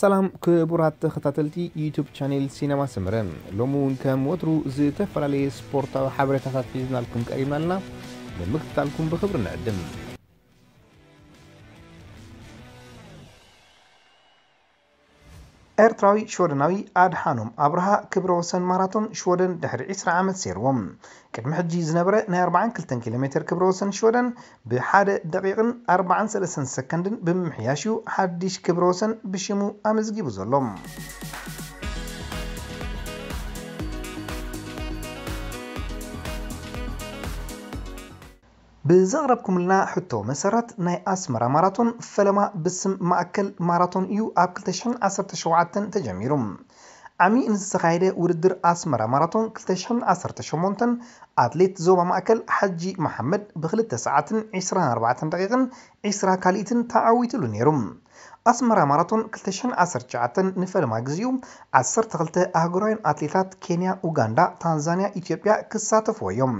ሰላም ክቡራት ተኸታተልቲ ዩቱብ ቻኔል ሲነማ ሰመረ፣ ሎሚ እውን ከም ወትሩ ዝተፈላለየ ስፖርታዊ ሓበሬታታት ሒዝናልኩም ቀሪብና ኣለና። ንምክትታልኩም ብኽብሪ ንዕድም። ኤርትራዊ ሽወደናዊ ኣድሓኖም ኣብርሃ ክብረ ወሰን ማራቶን ሽወደን ድሕሪ ዕስራ ዓመት ሰይርዎ። ቅድሚ ሕጂ ዝነበረ ናይ ኣርባዓን ክልተን ኪሎ ሜትር ክብረ ወሰን ሽወደን ብሓደ ደቂቕን ኣርባዓን ሰለስተን ሰከንድን ብምምሕያሽ እዩ ሓድሽ ክብረ ወሰን ብሽሙ ኣመዝጊቡ ዘሎ። ብዘቕረብኩምልና ሕቶ መሰረት፣ ናይ ኣስመራ ማራቶን ፈለማ ብስም ማእከል ማራቶን እዩ ኣብ ክልተ ሽሕን ዓሰርተ ሸውዓተን ተጀሚሩ። ዓሚ ንዝተኻየደ ውድድር ኣስመራ ማራቶን ክልተ ሽሕን ዓሰርተ ሸሞንተን ኣትሌት ዞባ ማእከል ሓጂ መሓመድ ብክልተ ሰዓትን ዕስራን ኣርባዕተን ደቂቕን ዕስራ ካልኢትን ተዓዊትሉ ነይሩ። ኣስመራ ማራቶን ክልተ ሽሕን ዓሰርተ ትሽዓተን ንፈለማ ግዜኡ ዓሰርተ ክልተ ኣህጉራውያን ኣትሌታት ኬንያ፣ ኡጋንዳ፣ ታንዛንያ፣ ኢትዮጵያ ክሳተፍዎ እዮም።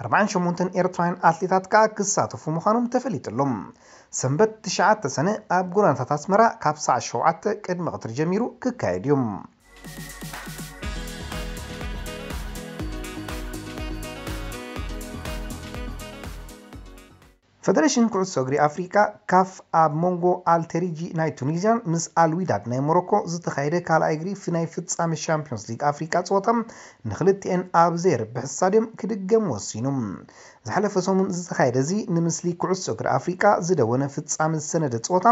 ኣርባዓን ሸሞንተን ኤርትራውያን ኣትሌታት ከኣ ክሳተፉ ምዃኖም ተፈሊጡ ኣሎ። ሰንበት ትሽዓተ ሰነ ኣብ ጎደናታት ኣስመራ ካብ ሰዓት ሸውዓተ ቅድሚ ቀትሪ ጀሚሩ ክካየድ እዩ። ፈደሬሽን ኩዕሶ እግሪ ኣፍሪቃ፣ ካፍ፣ ኣብ መንጎ ኣልቴሪጂ ናይ ቱኒዝያን ምስ ኣልዊዳድ ናይ ሞሮኮ ዝተኻየደ ካልኣይ እግሪ ፍ-፣ ናይ ፍጻመ ሻምፒዮንስ ሊግ ኣፍሪቃ ጸወታ ንክልቲኤን ኣብ ዘየርብሕ ስታድዮም ክድገም ወሲኑ። ዝሓለፈ ሰሙን ዝተኻየደ እዚ ንምስሊ ኩዕሶ እግሪ ኣፍሪቃ ዝደወነ ፍጻመ ዝሰነደ ጸወታ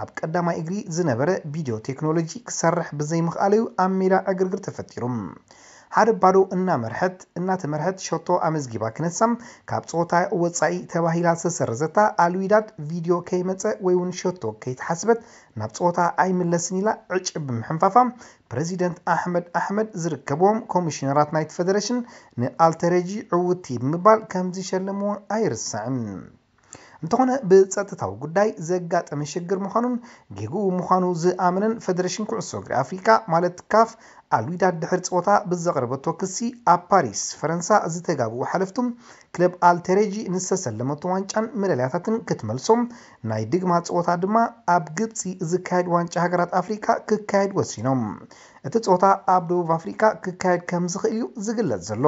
ኣብ ቀዳማይ እግሪ ዝነበረ ቪድዮ ቴክኖሎጂ ክሰርሕ ብዘይምኽኣለዩ ኣብ ሜዳ ዕግርግር ተፈጢሩ። ሓደ ባዶ እናመርሐት፣ እናተመርሐት ሸቶ ኣመዝጊባ ክነሳ ካብ ጸወታ ወጻኢ ተባሂላ ዝተሰረዘታ ኣልዊዳድ ቪድዮ ከይመጸ ወይ እውን ሸቶ ከይተሓስበት ናብ ጸወታ ኣይምለስን ኢላ ዕጭ ብምሕንፋፋ ፕረዚደንት ኣሕመድ ኣሕመድ ዝርከብዎም ኮሚሽነራት ናይቲ ፈደሬሽን ንኣልተረጂ ዕውቲ ብምባል ከም ዝሸለምዎ ኣይርሳዕን። እንተኾነ ብጸጥታዊ ጉዳይ ዘጋጠመ ሽግር ምዃኑን ጌግኡ ምዃኑ ዝኣመነን ፈደሬሽን ኩዕሶ እግሪ ኣፍሪቃ ማለት ካፍ ኣልዊዳድ ድሕሪ ጸወታ ብዘቕረበቶ ክሲ ኣብ ፓሪስ ፈረንሳ ዝተጋብኡ ሓለፍቱ ክለብ ኣልቴሬጂ ንዝተሰለመቶ ዋንጫን መዳልያታትን ክትመልሶ ናይ ድግማ ጸወታ ድማ ኣብ ግብጺ ዝካየድ ዋንጫ ሃገራት ኣፍሪቃ ክካየድ ወሲኖም። እቲ ጸወታ ኣብ ደቡብ ኣፍሪቃ ክካየድ ከም ዝኽእል እዩ ዝግለጽ ዘሎ።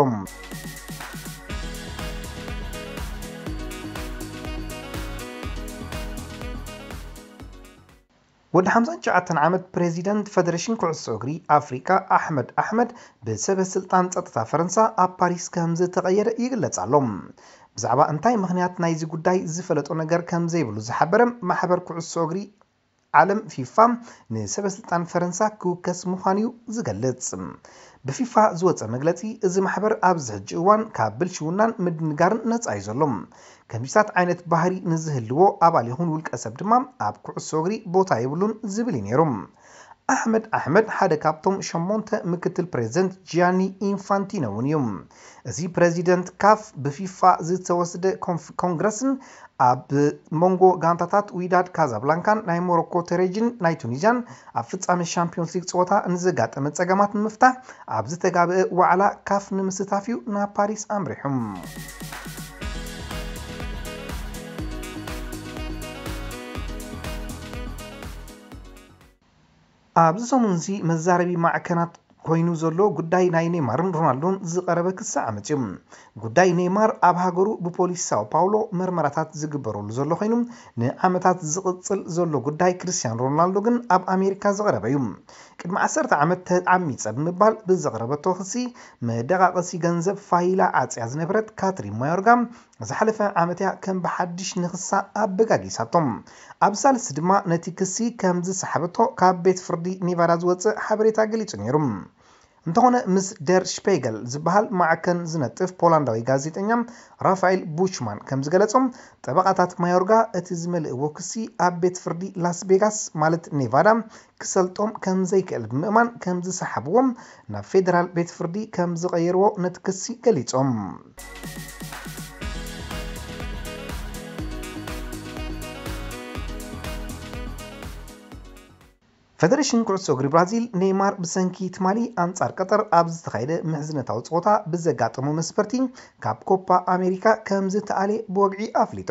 ወዲ ሓምሳን ትሽዓተን ዓመት ፕሬዚደንት ፈደሬሽን ኩዕሶ እግሪ ኣፍሪቃ ኣሕመድ ኣሕመድ ብሰበ ስልጣን ጸጥታ ፈረንሳ ኣብ ፓሪስ ከም ዝተቐየረ ይግለጽ ኣሎ። ብዛዕባ እንታይ ምኽንያት ናይዚ ጉዳይ ዝፈለጦ ነገር ከም ዘይብሉ ዝሓበረ ማሕበር ኩዕሶ እግሪ ዓለም ፊፋ ንሰበ ስልጣን ፈረንሳ ክውከስ ምዃኑ እዩ ዝገልጽ። ብፊፋ ዝወጸ መግለጺ፣ እዚ ማሕበር ኣብዚ ሕጂ እዋን ካብ ብልሽውናን ምድንጋርን ነጻ እዩ ዘሎ። ከምዚታት ዓይነት ባህሪ ንዝህልዎ ኣባል ይኹን ውልቀ ሰብ ድማ ኣብ ኩዕሶ እግሪ ቦታ የብሉን ዝብል እዩ ነይሩ። ኣሕመድ ኣሕመድ ሓደ ካብቶም ሸሞንተ ምክትል ፕሬዚደንት ጂያኒ ኢንፋንቲኖ እውን እዩ። እዚ ፕሬዚደንት ካፍ ብፊፋ ዝተወስደ ኮንፍ-፣ ኮንግረስን ኣብ መንጎ ጋንታታት ዊዳድ ካዛብላንካን ናይ ሞሮኮ ተሬጅን ናይ ቱኒዝያን ኣብ ፍጻመ ሻምፒዮንስ ሊግ ጸወታ ንዘጋጠመ ጸገማት ንምፍታሕ ኣብ ዝተጋብአ ዋዕላ ካፍ ንምስታፍ እዩ ናብ ፓሪስ ኣምሪሑ። ኣብዚ ሰሙን እዚ መዛረቢ ማዕከናት ኮይኑ ዘሎ ጉዳይ ናይ ኔይማርን ሮናልዶን ዝቐረበ ክሲ ዓመጽ እዩ። ጉዳይ ኔይማር ኣብ ሃገሩ ብፖሊስ ሳኦ ፓውሎ መርመራታት ዝግበረሉ ዘሎ ኮይኑ፣ ንዓመታት ዝቕጽል ዘሎ ጉዳይ ክርስቲያኖ ሮናልዶ ግን ኣብ ኣሜሪካ ዝቐረበ እዩ። ቅድሚ ዓሰርተ ዓመት ተዓሚጸ ብምባል ብዘቕረበቶ ክሲ፣ መደቓቐሲ ገንዘብ ፋይላ ዓጽያ ዝነበረት ካትሪን ማዮርጋ ዝሓለፈ ዓመት እያ ከም ብሓድሽ ንኽሳ ኣበጋጊሳቶም። ኣብ ሳልስቲ ድማ ነቲ ክሲ ከም ዝሰሓበቶ ካብ ቤት ፍርዲ ኔቫዳ ዝወጽእ ሓበሬታ ገሊጹ ነይሩ። እንተኾነ ምስ ደር ሽፔገል ዝበሃል ማዕከን ዝነጥፍ ፖላንዳዊ ጋዜጠኛ ራፋኤል ቡችማን ከም ዝገለጾ፣ ጠበቓታት ማዮርጋ እቲ ዝመልእዎ ክሲ ኣብ ቤት ፍርዲ ላስ ቬጋስ ማለት ኔቫዳ ክሰልጦም ከም ዘይክእል ብምእማን ከም ዝሰሓብዎም ናብ ፌደራል ቤት ፍርዲ ከም ዝቐየርዎ ነቲ ክሲ ገሊጾም። ፈደሬሽን ኩዕሶ እግሪ ብራዚል፣ ኔይማር ብሰንኪ ትማሊ ኣንጻር ቀጠር ኣብ ዝተኻየደ ምሕዝነታዊ ጸወታ ብዘጋጠሞ መስበርቲ ካብ ኮፓ ኣሜሪካ ከም ዝተኣልየ ብወግዒ ኣፍሊጡ።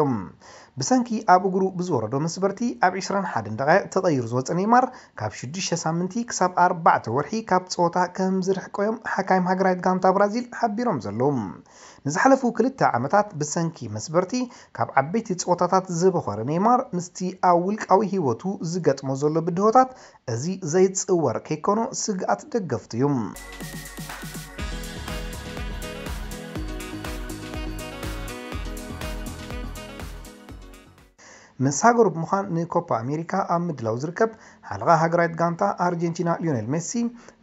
ብሰንኪ ኣብ እግሩ ብዝወረዶ መስበርቲ ኣብ ዕስራን ሓደን ደቓይቕ ተቐይሩ ዝወጸ ኔይማር፣ ካብ ሽዱሽተ ሳምንቲ ክሳብ ኣርባዕተ ወርሒ ካብ ጸወታ ከም ዝርሕቆ እዮም ሓካይም ሃገራዊት ጋንታ ብራዚል ሓቢሮም ዘለዉ። ንዝሓለፉ ክልተ ዓመታት ብሰንኪ መስበርቲ ካብ ዓበይቲ ጸወታታት ዝበኾረ ኔይማር፣ ምስቲ ኣብ ውልቃዊ ህይወቱ ዝገጥሞ ዘሎ ብድሆታት፣ እዚ ዘይጽወር ከይኮኖ ስግኣት ደገፍቱ እዩ። ምስ ሃገሩ ብምዃን ንኮፓ ኣሜሪካ ኣብ ምድላው ዝርከብ ሓለቓ ሃገራዊት ጋንታ ኣርጀንቲና ሊዮኔል ሜሲ፣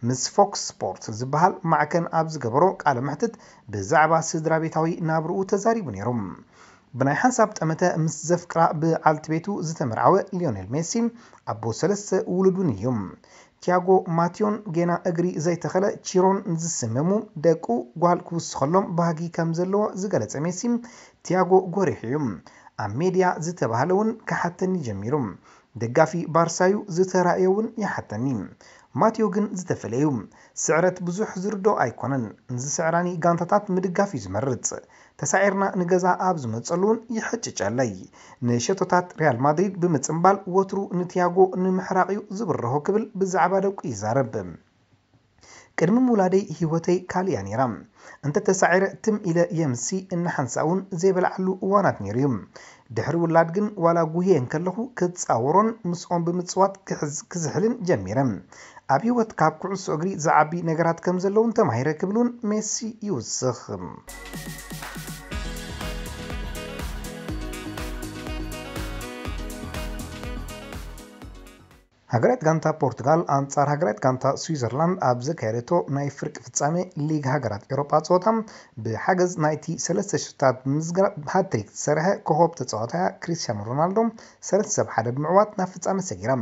ምስ ፎክስ ስፖርት ዝበሃል ማዕከን ኣብ ዝገበሮ ቃለ መሕትት፣ ብዛዕባ ስድራ ቤታዊ ናብርኡ ተዛሪቡ ነይሩ። ብናይ ሓንሳብ ጠመተ ምስ ዘፍቅራ በዓልቲ ቤቱ ዝተመርዓወ ሊዮኔል ሜሲ፣ ኣቦ ሰለስተ ውሉድ እውን እዩ። ቲያጎ ማትዮን ጌና እግሪ ዘይተኸለ ቺሮን ዝስመሙ ደቁ፣ ጓል ክውስኸሎም ባህጊ ከም ዘለዎ ዝገለጸ ሜሲ፣ ቲያጎ ጎሪሑ እዩ። ኣብ ሜድያ ዝተባህለ እውን ክሓተኒ ጀሚሩ። ደጋፊ ባርሳዩ፣ ዝተራእዮ እውን ይሓተኒ። ማትዮ ግን ዝተፈለዩ። ስዕረት ብዙሕ ዝርዶ ኣይኮነን። ንዝስዕራኒ ጋንታታት ምድጋፍ እዩ ዝመርጽ። ተሳዒርና ንገዛ ኣብ ዝመጸሉ እውን ይሕጭጨለይ። ንሸቶታት ሪያል ማድሪድ ብምጽምባል ወትሩ ንቲያጎ ንምሕራቕ እዩ ዝብርሆ ክብል ብዛዕባ ደቁ ይዛረብ። ቅድሚ ምውላደይ ህይወተይ ካልእ እያ ነይራ። እንተ ተሳዒረ ትም ኢለ የምሲ፣ እናሓንሳእ እውን ዘይበልዓሉ እዋናት ነይሩ እዩ። ድሕሪ ውላድ ግን ዋላ ጉህየ እንከለኹ ክጻወሮን ምስኦም ብምጽዋት ክሕዝ-፣ ክዝሕልን ጀሚረ። ኣብ ህይወት ካብ ኩዕሶ እግሪ ዝዓቢ ነገራት ከም ዘለውን ተማሂረ ክብል እውን ሜሲ ይውስኽ። ሃገራዊት ጋንታ ፖርቱጋል ኣንጻር ሃገራዊት ጋንታ ስዊዘርላንድ ኣብ ዘካየደቶ ናይ ፍርቂ ፍጻሜ ሊግ ሃገራት ኤውሮጳ ጸወታ፣ ብሓገዝ ናይቲ ሰለስተ ሽቶታት ብምዝጋብ ሃትሪክ ዝሰርሐ ኮኾብ ተጻዋታይ ክሪስቲያኖ ሮናልዶ፣ ሰለስተ ብሓደ ብምዕዋት ናብ ፍጻመ ሰጊራ።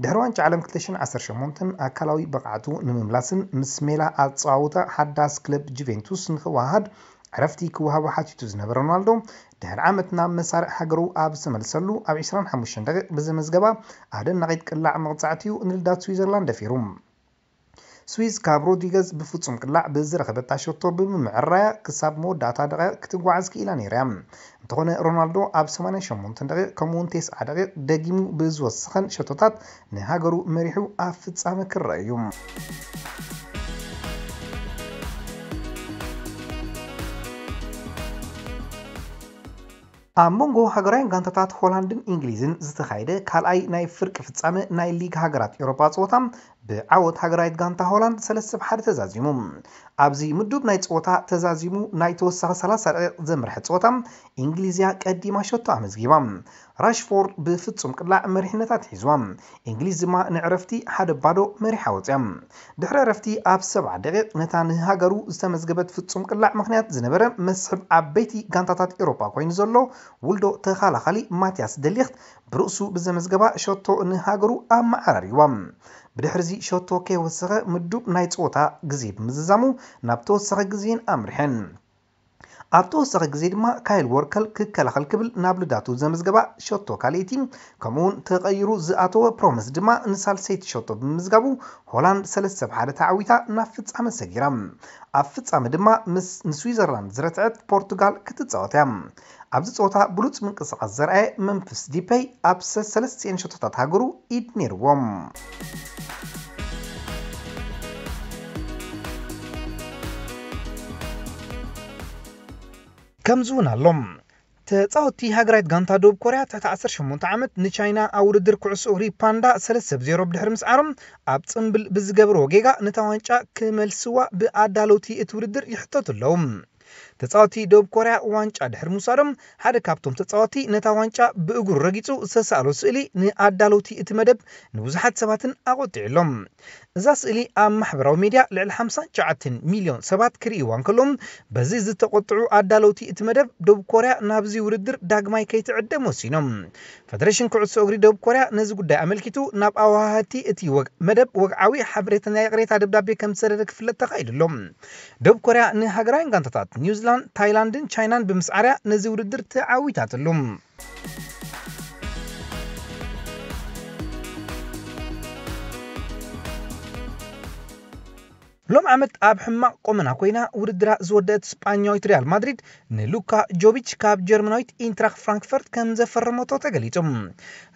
ድሕሪ ዋንጫ ዓለም ክልተ ሽሕን ዓሰርተ ሸሞንተን ኣካላዊ ብቕዓቱ ንምምላስን ምስ ሜላ ኣጸዋውታ ሓዳስ ክለብ ጁቬንቱስ ንኽወሃሃድ ዕረፍቲ ክወሃቦ ሓቲቱ ዝነበረ ሮናልዶ፣ ድሕሪ ዓመት ናብ መሳርዕ ሃገሩ ኣብ ዝተመልሰሉ፣ ኣብ ዕስራን ሓሙሽተን ደቂቕ ብዘመዝገባ ኣደናቒት ቅላዕ መቕጻዕቲ እዩ ንልዳት ስዊዘርላንድ ደፊሩ። ስዊዝ ካብ ሮድሪገዝ ብፍጹም ቅላዕ ብዝረኸበታ ሸቶ ብምምዕራያ ክሳብ መወዳእታ ደቂቕ ክትጓዓዝ ክኢላ ነይራ እያ። እንተኾነ ሮናልዶ ኣብ ሰማንያን ሸሞንተን ደቂቕ ከምኡውን ተስዓ ደቂቕ ደጊሙ ብዝወሰኸን ሸቶታት ንሃገሩ መሪሑ ኣብ ፍጻመ ክረአ እዩ። ኣብ መንጎ ሃገራውያን ጋንታታት ሆላንድን እንግሊዝን ዝተኻየደ ካልኣይ ናይ ፍርቂ ፍጻመ ናይ ሊግ ሃገራት ኤውሮጳ ጸወታ፣ ብዓወት ሃገራዊት ጋንታ ሆላንድ ሰለስተ ብ ሓደ ተዛዚሙ። ኣብዚ ምዱብ ናይ ጸወታ ተዛዚሙ ናይ ተወሳኺ ሰላሳ ደቂቕ ዘምርሐ ጸወታ፣ እንግሊዝ እያ ቀዲማ ሸቶ ኣመዝጊባ። ራሽፎርድ ብፍጹም ቅላዕ መሪሕነታ ኣትሒዝዋ። እንግሊዝ ድማ ንዕረፍቲ ሓደ ባዶ መሪሓ ወጽያ። ድሕሪ ዕረፍቲ ኣብ ሰብዓ ደቂቕ ነታ ንሃገሩ ዝተመዝገበት ፍጹም ቅላዕ ምኽንያት ዝነበረ መስሕብ ዓበይቲ ጋንታታት ኤውሮጳ ኮይኑ ዘሎ ውልዶ ተኻላኻሊ ማቲያስ ደሊኽት ብርእሱ ብዘመዝገባ ሸቶ ንሃገሩ ኣመዓራርይዋ። ብድሕሪዚ ሸቶ ከይወሰኸ ምዱብ ናይ ጸወታ ግዜ ብምዝዛሙ ናብ ተወሳኺ ግዜን ኣምሪሐን። ኣብ ተወሳኺ ግዜ ድማ ካይል ወርከር ክከላኸል ክብል ናብ ልዳቱ ዘመዝገባ ሸቶ ካልኣይቲ፣ ከምኡውን ተቐይሩ ዝኣተወ ፕሮምስ ድማ ንሳልሰይቲ ሸቶ ብምምዝጋቡ ሆላንድ ሰለስተ ብ ሓደ ተዓዊታ ናብ ፍጻመ ሰጊራ። ኣብ ፍጻመ ድማ ምስ ንስዊዘርላንድ ዝረትዐት ፖርቱጋል ክትጻወት እያ። ኣብዚ ጸወታ ብሉጽ ምንቅስቓስ ዘርኣየ መምፍስ ዲፐይ ኣብ ሰለስቲኤን ሸቶታት ሃገሩ ኢድ ነይርዎም። ከምዚ እውን ኣሎ። ተጻወትቲ ሃገራዊት ጋንታ ደቡብ ኮርያ ትሕቲ ዓሰርተ ሸሞንተ ዓመት ንቻይና ኣብ ውድድር ኩዕሶ እግሪ ፓንዳ ሰለስተ ብ ዜሮ ብድሕሪ ምስዓሮም፣ ኣብ ጽምብል ብዝገበርዎ ጌጋ ነታ ዋንጫ ክመልስዋ ብኣዳለውቲ እቲ ውድድር ይሕተቱ ኣለዉ። ተጻወትቲ ደቡብ ኮርያ ዋንጫ ድሕሪ ምውሳዶም፣ ሓደ ካብቶም ተጻወትቲ ነታ ዋንጫ ብእግሩ ረጊጹ ዝተሳእሎ ስእሊ ንኣዳለውቲ እቲ መደብ ንብዙሓት ሰባትን ኣቖጢዑ ኣሎ። እዛ ስእሊ ኣብ ማሕበራዊ ሜድያ ልዕሊ ሓምሳን ትሽዓተን ሚልዮን ሰባት ክርእይዋ እንከለዉ፣ በዚ ዝተቖጥዑ ኣዳለውቲ እቲ መደብ፣ ደቡብ ኮርያ ናብዚ ውድድር ዳግማይ ከይትዕደም ወሲኖም። ፈደሬሽን ኩዕሶ እግሪ ደቡብ ኮርያ ነዚ ጉዳይ ኣመልኪቱ ናብ ኣወሃሃድቲ እቲ ወግ-፣ መደብ ወግዓዊ ሓበሬታ ናይ ይቕሬታ ደብዳቤ ከም ዝሰደደ ክፍለጥ ተኻኢሉ ኣሎ። ደቡብ ኮርያ ንሃገራውያን ጋንታታት ኒውዚላንድ፣ ታይላንድን ቻይናን ብምስዓርያ ነዚ ውድድር ተዓዊታትሉ። ሎም ዓመት ኣብ ሕማቕ ቆመና ኮይና ውድድራ ዝወደአት ስጳኛዊት ሪያል ማድሪድ ንሉካ ጆቪች ካብ ጀርመናዊት ኢንትራክ ፍራንክፈርት ከም ዘፈረመቶ ተገሊጹ።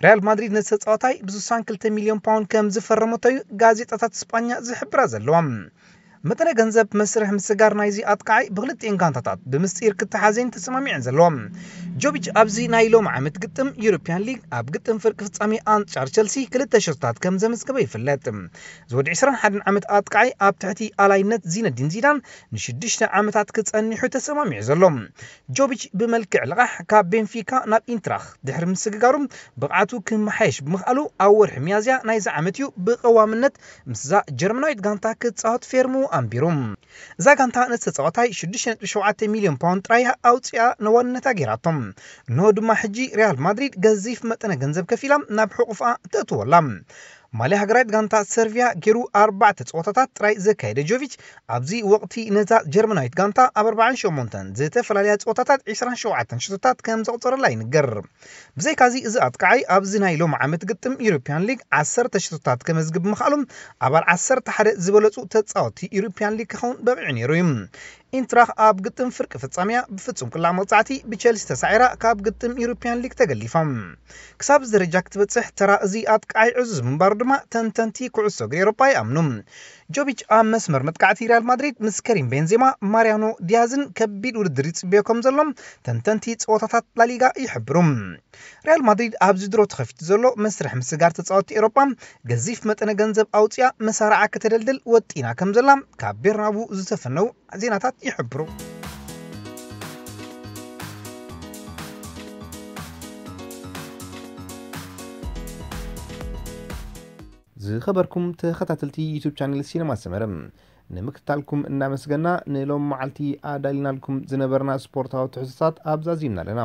ሪያል ማድሪድ ነቲ ተጻዋታይ ብ62 ሚልዮን ፓውንድ ከም ዝፈረመቶ እዩ ጋዜጣታት ስጳኛ ዝሕብራ ዘለዋ። መጠነ ገንዘብ መስርሕ ምስጋር ናይዚ ኣጥቃዓይ ብክልቲኤን ጋንታታት ብምስጢር ክተሓዘን ተሰማሚዐን ዘለዋ። ጆቪች ኣብዚ ናይ ሎም ዓመት ግጥም ዩሮፒያን ሊግ ኣብ ግጥም ፍርቂ ፍጻሜ ኣንጻር ቸልሲ ክልተ ሸቶታት ከም ዘመዝገበ ይፍለጥ። ዝወዲ 21 ዓመት ኣጥቃዓይ ኣብ ትሕቲ ኣላይነት ዚነዲን ዚዳን ንሽዱሽተ ዓመታት ክጸኒሑ ተሰማሚዑ ዘሎ። ጆቪች ብመልክዕ ልቓሕ ካብ ቤንፊካ ናብ ኢንትራክ ድሕሪ ምስግጋሩ ብቕዓቱ ክመሓየሽ ብምኽኣሉ ኣብ ወርሒ ሚያዝያ ናይዚ ዓመት እዩ ብቐዋምነት ምስዛ ጀርመናዊት ጋንታ ክጻወት ፌርሙ ኣንቢሩ። እዛ ጋንታ ነቲ ተጻዋታይ 6.7 ሚልዮን ፓውንድ ጥራይ ኣውፅኣ ነዋንነታ ገይራቶም። እንሆ ድማ ሕጂ ሪያል ማድሪድ ገዚፍ መጠነ ገንዘብ ከፊላ ናብ ሕቑፍኣ ተእትወላ። ማልያ ሃገራዊት ጋንታ ሰርቪያ ገይሩ ኣርባዕተ ፀወታታት ጥራይ ዘካየደ ጆቪች ኣብዚ ወቕቲ ነዛ ጀርመናዊት ጋንታ ኣብ ኣርባዓን ሸሞንተን ዝተፈላለያ ፀወታታት 27 ሽቶታት ከም ዘቑፀረላ ይንገር። ብዘይካዚ እዚ ኣጥቃዓይ ኣብዚ ናይ ሎም ዓመት ግጥም ዩሮፒያን ሊግ ዓሰርተ ሽቶታት ከመዝግብ ምኽኣሉ ኣባል ዓሰርተ ሓደ ዝበለፁ ተፃወቲ ዩሮፒያን ሊግ ክኸውን በቂዑ ነይሩ እዩ። ኢንትራክ ኣብ ግጥም ፍርቂ ፍጻሜያ ብፍጹም ቅላዕ መቕጻዕቲ ብቸልሲ ተሳዒራ ካብ ግጥም ዩሮፒያን ሊግ ተገሊፋ። ክሳብ እዚ ደረጃ ክትበጽሕ ተራ እዚ ኣጥቃዓይ ዕዙዝ ምንባሩ ድማ ተንተንቲ ኩዕሶ እግሪ ኤውሮጳ ይኣምኑ። ጆቪች ኣብ መስመር መጥቃዕቲ ሪያል ማድሪድ ምስ ከሪም ቤንዜማ፣ ማሪያኖ ዲያዝን ከቢድ ውድድር ይጽበዮ ከም ዘሎ ተንተንቲ ጸወታታት ላሊጋ ይሕብሩ። ሪያል ማድሪድ ኣብዚ ድሮ ተኸፊቱ ዘሎ መስርሕ ምስጋር ተጻወትቲ ኤውሮጳ ገዚፍ መጠነ ገንዘብ ኣውፅያ መሳርዓ ከተደልድል ወጢና ከም ዘላ ካብ ቤርናቡ ዝተፈነው ዜናታት ይሕብሩ። ዝኸበርኩም ተኸታተልቲ ዩቱብ ቻነል ሲነማ ሰመረ፣ ንምክትታልኩም እናመስገና ንሎም መዓልቲ ኣዳሊናልኩም ዝነበርና ስፖርታዊ ትሕዝቶታት ኣብዛዚምና ኣለና።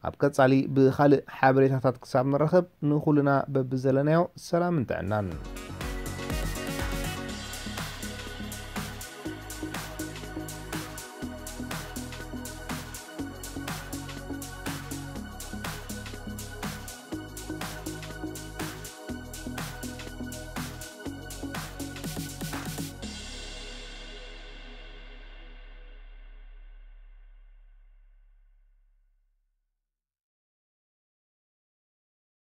ኣብ ቀጻሊ ብኻልእ ሓበሬታታት ክሳብ ንራኸብ ንኹልና በብዘለናዮ ሰላምን ጥዕናን።